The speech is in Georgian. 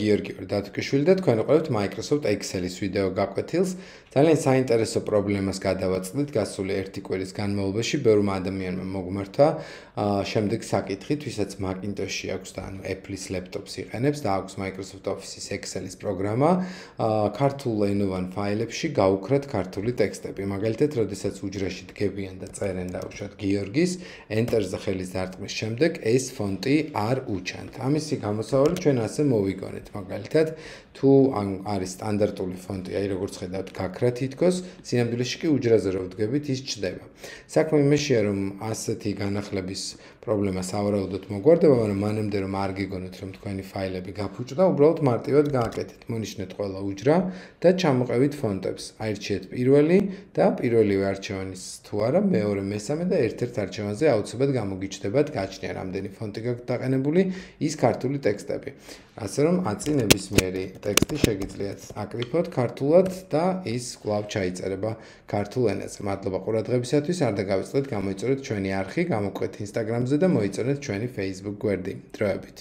გიორგი ვარ დათვკიშვილი და თქვენ უყურებთ Microsoft Excel-ის ვიდეო გაკვეთილს. ძალიან საინტერესო პრობლემას გადავაწყდით გასული ერთი კვირის განმავლობაში. ბევრმა ადამიანმა მოგმართა შემდეგ საკითხით, ვისაც Macintosh-ი აქვს და ანუ Apple-ის laptop-ს იყენებს და აქვს Microsoft Office-ის Excel-ის პროგრამა, ქართულ ენოვან ფაილებში გაუქრათ ქართული ტექსტები. მაგალითად, როდესაც უჯრაში დგებიან და წერენ დაუშვათ გიორგის, Enter-ზე ხელის დარტყმის შემდეგ ეს ფონტი არ უჩანთ. ამისი გამოსავალი ჩვენ ასე მოვიგონეთ. მაგალითად, თუ არის სტანდარტული ფონტი, აი როგორც ხედავთ, გაქრა თითქოს, სინამდვილეში კი უჯრაზე რო ვდგებით, ის ჩდება. საქმე იმაშია, რომ ასეთი განახლების პრობლემა სავარაუდოდ მოგვარდება, მაგრამ მანამდე რომ არ გიგონოთ, რომ თქვენი ფაილები გაფუჭდა, უბრალოდ მარტივად გააკეთეთ. მონიშნეთ ყველა უჯრა და ჩამოყევით ფონტებს. აირჩიეთ პირველი და პირველივე არჩევანის თუ არა, მეორე, მესამე და ერთ-ერთ არჩევანზე აუცილებლად გამოგიჩნდებათ გაჩნია რამდენი ფონტი გაქვთ დაყენებული, ის ქართული ტექსტები. ასე რომ აწი ნებისმიერი ტექსტი შეგიძლიათ აკრიფოთ ქართულად და ის კვლავ ჩაიწერება ქართულ ენაზე. მადლობა ყურადღებისათვის, არ დაგავიწყდეთ, გამოიწერეთ ჩვენი არხი, გამოყვეთ Instagram-ზე და მოიწერეთ ჩვენი Facebook გვერდი. დროებით.